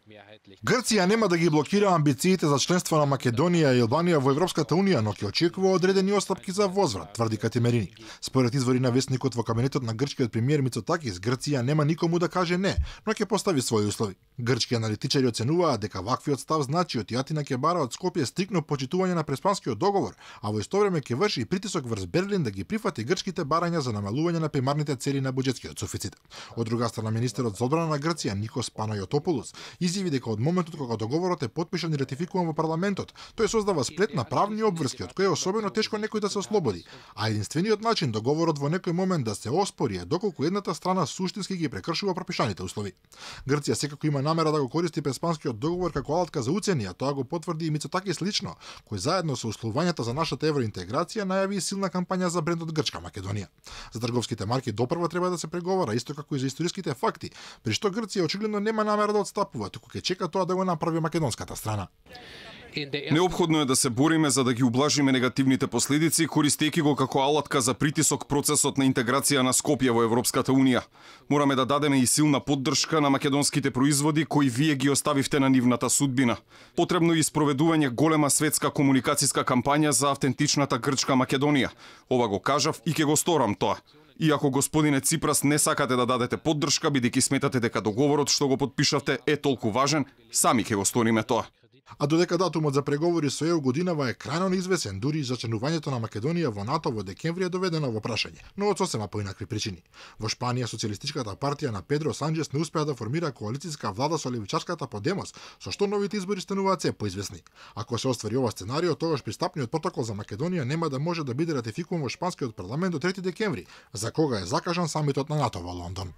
Грција нема да ги блокира амбициите за членство на Македонија и Албанија во Европската унија, но ќе очекува одредени отстапки за возврат, тврди Катимерини. Според извори на вестникот во кабинетот на грчкиот премиер Мицотакис, Грција нема никому да каже не, но ќе постави своји услови. Грчки аналитичари оценуваат дека ваквиот став значи од Атина ќе бара од Скопје стрикно почитување на Преспанскиот договор, а во исто време ќе врши и притисок врз Берлин да ги прифати грчките барања за намалување на примарните цели на буџетскиот суфицит. Од друга страна, министерот за одбрана на Грција Никос Панајотопулос изјави дека од моментот кога договорот е потпишан и ратификуван во парламентот, тој создава сплет на правни обврски од кои е особено тешко некој да се ослободи, а единствениот начин договорот во некој момент да се оспори е доколку едната страна суштински ги прекршува пропишаните услови. Грција секако има намера да го користи Преспанскиот договор како алатка за уцени, а тоа го потврди и Мицотакис лично, кој заедно со условувањата за нашата евроинтеграција најави силна кампања за брендот Грчка Македонија. За трговските марки допрва треба да се преговара, исто како и за историските факти, при што Грција очигледно нема намера да отстапува, туку ќе чека тоа да го направи македонската страна. Неопходно е да се бориме за да ги ублажиме негативните последици, користејќи го како алатка за притисок процесот на интеграција на Скопје во Европската унија. Мораме да дадеме и силна поддршка на македонските производи кои вие ги оставивте на нивната судбина. Потребно е испроведување голема светска комуникацијска кампања за автентичната грчка Македонија. Ова го кажав и ќе го сторам тоа. Иако господине Ципрас не сакате да дадете поддршка бидејќи сметате дека договорот што го потпишавте е толку важен, сами ќе го сториме тоа. А додека датумот за преговори со ЕУ годинава е крајно неизвестен, дури и за членувањето на Македонија во НАТО во декември е доведено во прашање, но од сосема поинакви причини. Во Шпанија социјалистичката партија на Педро Санчес не успеа да формира коалицијска влада со левичарската Подемос, со што новите избори стануваат се поизвестни. Ако се оствари ова сценарио, тогаш пристапниот протокол за Македонија нема да може да биде ратификуван во шпанскиот парламент до 3 декември, за кога е закажан самитот на НАТО во Лондон.